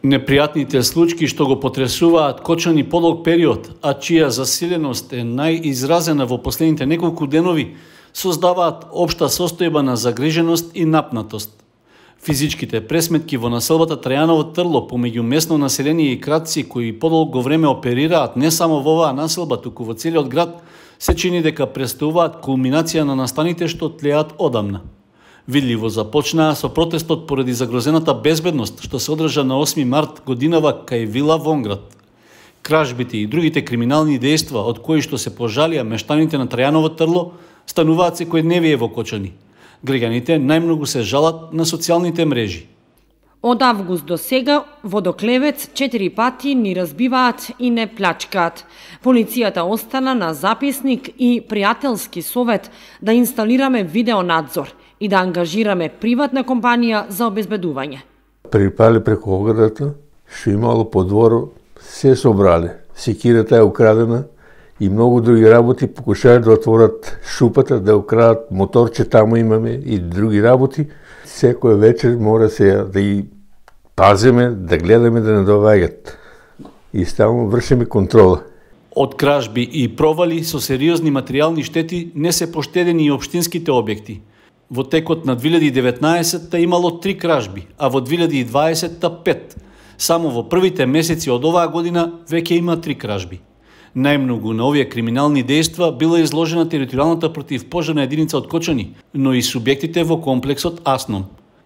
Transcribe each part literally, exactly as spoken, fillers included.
Непријатните случаи што го потресуваат Кочани подолг период, а чија засиленост е најизразена во последните неколку денови, создаваат општа состојба на загриженост и напнатост. Физичките пресметки во населбата Трајаново Трло помеѓу местно население и кратци кои подолго време оперираат не само во оваа населба, туку во целиот град, се чини дека представуваат кулминација на настаните што тлеат одамна. Видливо започнаа со протестот поради загрозената безбедност што се одржа на осми март годинава кај Вила Вонград. Кражбите и другите криминални дејства од кои што се пожалија мештаните на Трајаново Трло стануваат секојдневие во Кочани. Граѓаните најмногу се жалат на социјалните мрежи. Од август до сега водоклевец четири пати ни разбиваат и не плачкаат. Полицијата остана на записник и пријателски совет да инсталираме видеонадзор и да ангажираме приватна компанија за обезбедување. Припали преку оградата, што имало по двору, се собрали. Секирата е украдена и многу други работи, покушаат да отворат шупата, да украдат моторче, таму имаме и други работи. Секој вечер мора се да ги пазиме, да гледаме да не доваѓат. И ставно вршиме контрола. Од кражби и провали со сериозни материјални штети не се поштедени и општинските објекти. Во текот на две илјади и деветнаесетта имало три кражби, а во две илјади и дваесетта пет. Само во првите месеци од оваа година веќе има три кражби. Најмногу на овие криминални дејства била изложена територијалната противпожарна единица од Кочани, но и субјектите во комплексот Асном.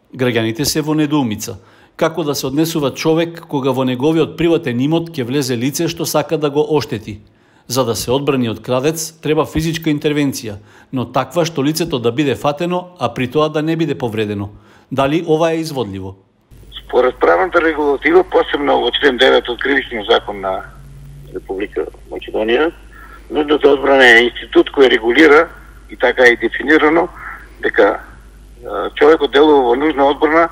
Граѓаните се во недоумица. Како да се однесува човек кога во неговиот приватен имот ќе влезе лице што сака да го оштети? За да се одбрани од крадец, треба физичка интервенција, но таква што лицето да биде фатено, а при тоа да не биде повредено. Дали ова е изводливо? Според правната регулатива, посебно во член девет од Кривичниот закон на Република Македонија, нужната одбрана е институт кој регулира и така е дефинирано дека човекот делува во нужна одбрана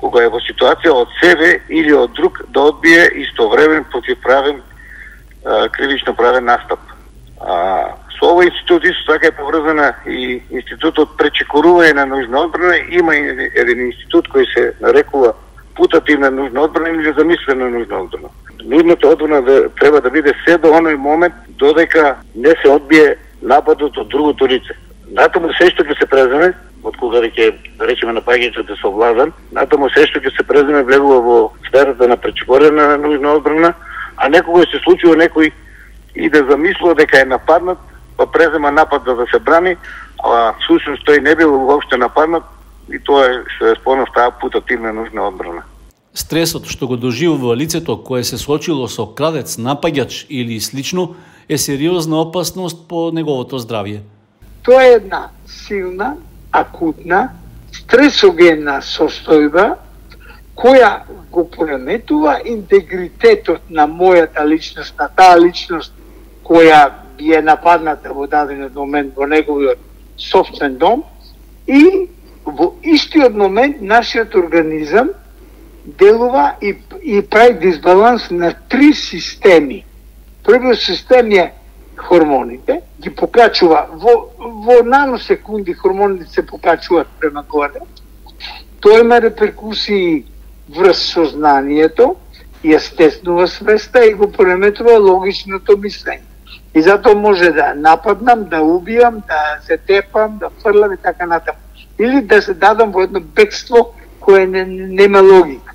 кога е во ситуација од себе или од друг да одбие истовремен противправен кривично правен настап. А, со овој институт исто така е поврзана и институтот пречекорување на нужна одбрана. Има еден институт кој се нарекува путативна нужна одбрана или замислена нужна одбрана. Нужната одбрана да, треба да биде се до оној момент додека не се одбие нападот од другото лице. Натаму се што ќе се преземе, од кога веќе да речеме напаѓањето се овладан, натаму се што ќе се преземе влегува во сферата на пречекорена на нужна одбрана, а некогаш се случува некој и да замислува дека е нападнат, па презема напад да, да се брани, а всушност тој не бил воопште нападнат и тоа е се спомнав таа путативна нужна одбрана. Стресот што го доживува лицето кое се соочило со крадец, напаѓач или слично е сериозна опасност по неговото здравје. Тоа е една силна, акутна, стресогенна состојба која го пореметува интегритетот на мојата личност, на таа личност која е нападната во даден момент во неговиот собствен дом и во истиот момент нашиот организам делува и, и прави дисбаланс на три системи. Првиот систем е хормоните, ги покачува во, во наносекунди хормоните се покачуваат према горе. Тоа има реперкусии врз сознанието и ја стеснува свеста и го пореметува логичното мислење. И затоа може да нападнам, да убијам, да се тепам, да фрлам и така натаму. Или да се дадам во едно бегство кое не, нема логика.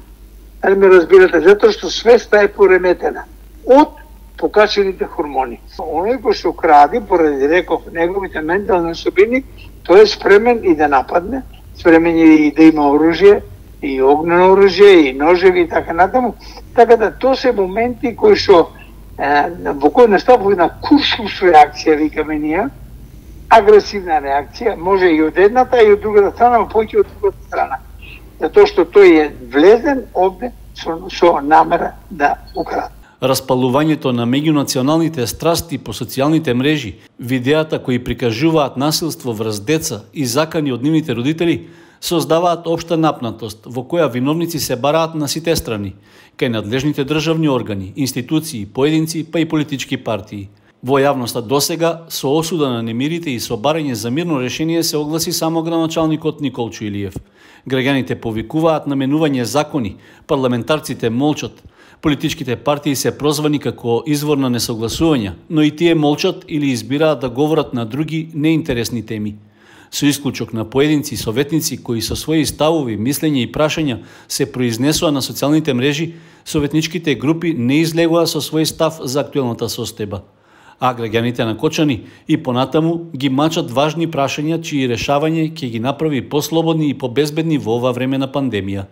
Али ме разбирате, затоа што свеста е пореметена од покачените хормони. Оној кој што кради, поради реков неговите ментални особини, тој е спремен и да нападне, спремен и да има оружје, и огнено оружје, и ножеви и така натаму. Така да тоа се моменти кои што во кој настапува една куршус реакција, викаме ние, агресивна реакција, може и од едната и од другата страна, но поќе од другата страна. Затоа што тој е влезен овде со, со намера да украде. Распалувањето на меѓунационалните страсти по социјалните мрежи, видеата кои прикажуваат насилство врз деца и закани од нивните родители, создаваат општа напнатост во која виновници се бараат на сите страни, кај надлежните државни органи, институции, поединци, па и политички партии. Во јавноста досега со осуда на немирите и со барање за мирно решение се огласи само градоначалникот Николчо Илиев. Граѓаните повикуваат на менување закони, парламентарците молчат, политичките партии се прозвани како извор на несогласувања, но и тие молчат или избираат да говорат на други неинтересни теми. Со исклучок на поединци советници кои со своји ставови, мислења и прашања се произнесоа на социјалните мрежи, советничките групи не излегоа со свој став за актуелната состојба. А граѓаните на Кочани и понатаму ги мачат важни прашања чии решавање ќе ги направи послободни и побезбедни во ова време на пандемија.